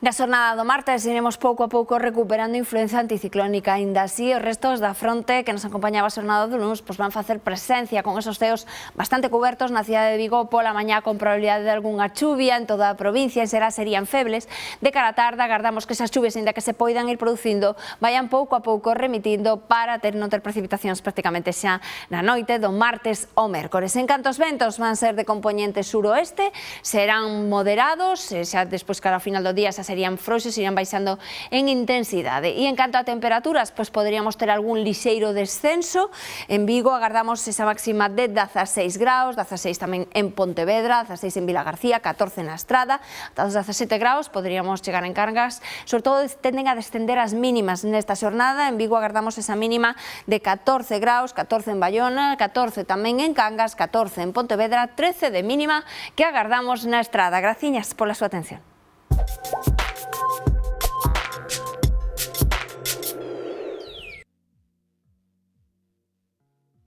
Na xornada do martes iremos pouco a pouco recuperando influencia anticiclónica. Ainda así, os restos da fronte que nos acompañaba a xornada do luns van facer presencia con esos ceos bastante cubertos na cidade de Vigo pola mañá, con probabilidade de algunha chuvia en toda a provincia. En Será serían febles. De cara á tarde agardamos que esas chuvias, ainda que se poidan ir producindo, vayan pouco a pouco remitindo para non ter precipitacións prácticamente xa na noite do martes ao mércores. En canto aos ventos, van ser de compoñente suroeste, serán moderados, xa despois cara ao final do día xa serían frouxos, irán baixando en intensidade. E en canto a temperaturas, pois poderíamos ter algún lixeiro descenso. En Vigo agardamos esa máxima de 16 graus, 16 tamén en Pontevedra, 16 en Vilagarcía, 14 na Estrada, ata os 17 graus poderíamos chegar en Cangas. Sobre todo tenden a descender as mínimas nesta xornada. En Vigo agardamos esa mínima de 14 graus, 14 en Bayona, 14 tamén en Cangas, 14 en Pontevedra, 13 de mínima que agardamos na Estrada. Graciñas pola súa atención.